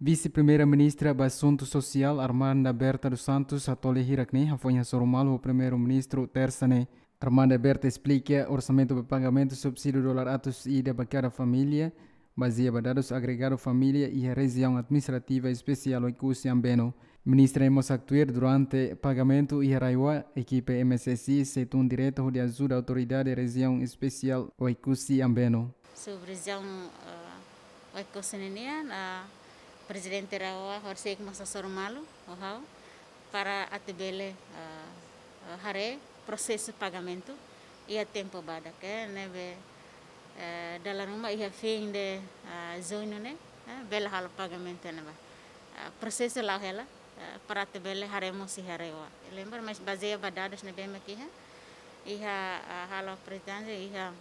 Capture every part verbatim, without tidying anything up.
Vise-Primeira-Ministra ba Asuntu Sosiál, Armanda Berta dos Santos, hato'o lia hirak ne'e hafoin hasoru malu ho Primeiru-Ministru, tersa ne'e. Armanda Berta esplika orsamentu ba pagamentu subsídiu dolar atus ida ba kada família, bazeia ba dadus agregadu família iha Rejiaun Administrativa Espesiál Oekusi Ambeno. Ministra mós haktuir durante pagamentu iha RAEOA, ekipa M S S I sei tun direta hodi ajuda Autoridade Rejiaun Espesiál Oekusi Ambeno. Sub-rejiaun, eh, Oekusi ninian, eh, Prezidente RAEOA horisehik mós hasoru malu ho ha'u para atu bele, eh, eh, haree prosesu pagamentu iha tempu badak, eh, ne'ebé, eh, dala ruma iha fin de, eh, juñu ne'e, eh, bele halo pagamentu ne'ebá. Eh, prosesu la'o hela, eh, para atu bele haree mós iha RAEOA. Lembra, mas bazeia ba dadus ne'ebé mak iha, iha, eh, halo apresentável iha,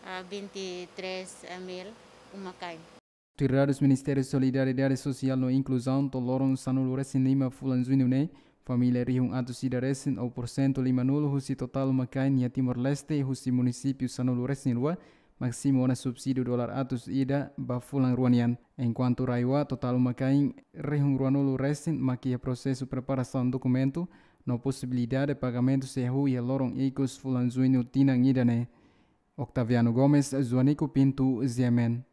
eh, vinte e três mil uma-kain. Tuir dadus Ministériu Solidariedade Sosiál no Inkluzaun, to'o loron sanulu-resin-lima fulan juñu ne'e, família rihun atus ida resin, ou porsentu lima-nulu husi totál uma-kain iha Timor-Leste, husi munisípiu sanulu-resin-rua, mak simu ona subsídiu dolar atus ida ba fulan rua nian. Enkuantu RAEOA, totál uma-kain rihun ruanulu resin mak iha prosesu preparasaun dokumentu no posibilidade pagamentu sei hahú iha loron ikus fulan juñu tinan ida-ne'e. Octaviano Gomes, Joanico Pinto, G M N.